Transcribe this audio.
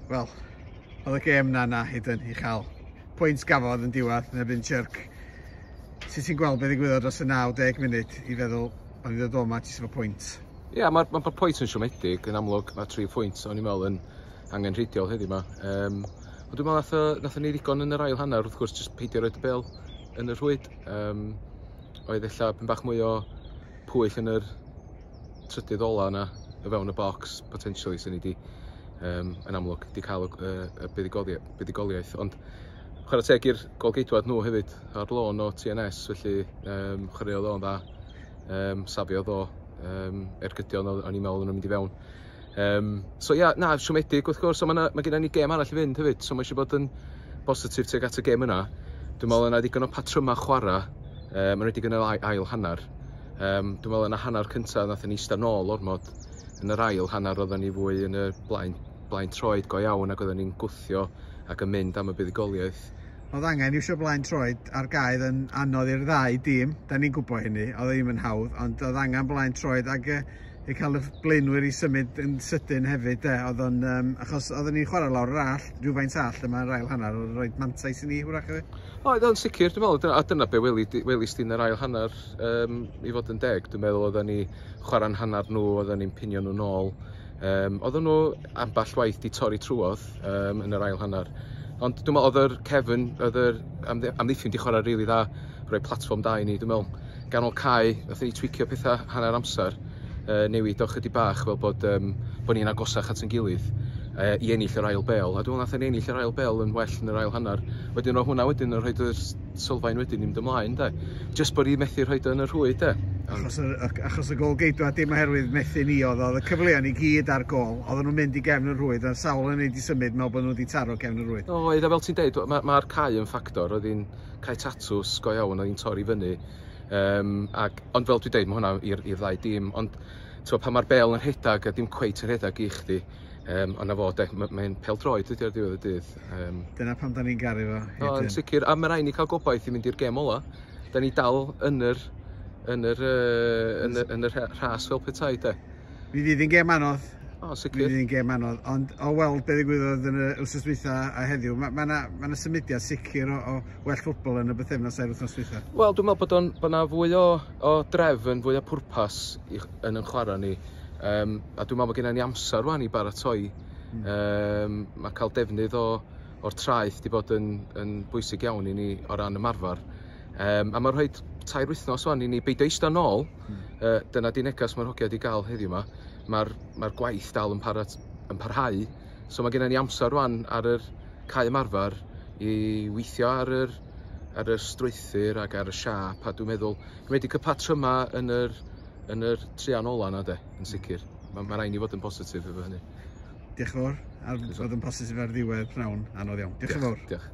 Wel, oedd y gêm na na hyd yn i chael. Pwynt gafodd yn diwedd yn erbyn Chirk. Sut ti'n gweld beth ddigwyddodd dros y 90 munud i feddwl o'n i ddod o 'ma jyst efo pwynt? Ie, yeah, mae'r ma, ma pwynt yn siomedig, yn amlwg mae 3 pwynt o'n i'n meddwl yn angenrheidiol heddiw yma. Ond dwi'n meddwl nath ni ddigon yn yr ail hanner, wrth gwrs, jyst peidio roed y bel yn y rhwyd. Oedd ella pyn bach mwy o pwyll yn yr trydydd ola yna, o fewn y bocs, potentially, sy'n ni di, yn amlwg, di cael y buddugoliaeth. Ond chwarae teg i'r golgeidwad nhw hefyd ar lôn o TNS, felly chwaraeodd o'n dda, safiodd o ergydion o'n i'n meddwl o'n nhw'n mynd i fewn. So ia, na, siomedig wrth gwrs, ond mae gennym ni gêm arall i fynd hefyd, so mae eisiau bod yn bositif tuag at y gêm yna. Dwi'n meddwl yna ddigon o patryma chwarae, mae'n wedi yn yr ail hanner. Dwi'n meddwl yna hanner cyntaf nath ni eistedd nôl ormod. Yn yr ail hanner oedden ni fwy yn y blaen troed go iawn ac oedden ni'n gwthio ac yn mynd am y buddugoliaeth. Oedd angen iwsio blaen troed ar gaedd yn anodd i'r ddau dîm, da ni'n gwybod hynny, oedd e ddim yn hawdd, ond oedd angen blaen troed ac i cael y blaenwyr i symud yn sydyn hefyd, de, oedd o'n, achos oedden ni'n chwarae lawr yr all, rhywfaint all yma yr ail hanner, oedd rhoi mantais i ni hwrach hefyd. Oedd o'n sicr, dwi'n meddwl, a dyna be welis di yn yr ail hanner, i fod yn deg, dwi'n meddwl oedden ni chwarae'n hanner nhw, oedden ni'n pinio nhw nôl. Oedden nhw ambell waith di torri trwodd yn yr ail hanner. Ond dwi'n meddwl oedd yr cefn, oedd yr amddiffyn di chwarae rili dda, rhoi platfform da i ni, dwi'n meddwl. Ganol cae, nath ni twicio pethau hanner amser, newid o chydig bach fel bod ni'n agosach at ein gilydd i ennill yr ail bel. A dwi'n meddwl nath ni ennill yr ail bel yn well yn yr ail hanner. Wedyn o hwnna wedyn yn rhoi y sylfaen wedyn i mynd ymlaen, de. Jyst bod ni methu rhoi yn y rhwyd, de. Achos y gol geidwad dim oherwydd methu ni oedd y cyfleon i gyd ar gol, oedden nhw'n mynd i gefn y rhwyd, a sawl yn ei di symud mewn bod nhw wedi taro gefn y rhwyd. Oedd, a fel ti'n deud, mae'r cae yn ffactor, oedd hi'n cae tatws go iawn, oedd hi'n torri fyny. Ond fel dwi'n deud, mae hwnna i'r ddau dîm, ond pan mae'r bel yn rhedeg a dim cweit yn rhedeg i chdi, ond na fo, mae'n pêl-droed ydi ar ddiwedd y dydd. Dyna pam da ni'n garu fo. O, yn sicr, a mae rhaid ni cael gobaith i mynd i'r gêm ola. Da ni dal yn yr rhas fel petai, de. Mi fydd hi'n gêm anodd. O, sicr. Mi fydd hi'n gêm anodd, ond o weld beth ddigwyddodd yn y wythnos dwytha a heddiw, mae yna symudiad sicr o well ffwtbol yn y bythefnos a'r wythnos dwytha. Wel, dwi'n meddwl bod yna fwy o drefn, fwy o pwrpas yn ein chwarae ni. A dwi'n meddwl bod gennym ni amser rwan i baratoi. Mae cael defnydd o'r traeth wedi bod yn bwysig iawn i ni o ran ymarfer. A mae'n rhoi 3 wythnos wan i ni beidio eistedd nôl. Dyna di neges mae'r hogia wedi gael heddiw yma. Mae'r gwaith dal yn parhau. So mae gennym ni amser rwan ar yr cae ymarfer i weithio ar yr strwythur ac ar y siâp. A dwi'n meddwl, dwi'n wedi cael patryma yn yr trian ola yna, de, yn sicr. Mae rhaid ni fod yn positif efo hynny. Diolch yn fawr, a fod yn positif ar ddiwedd pnawn anodd iawn. Diolch yn fawr. Diolch.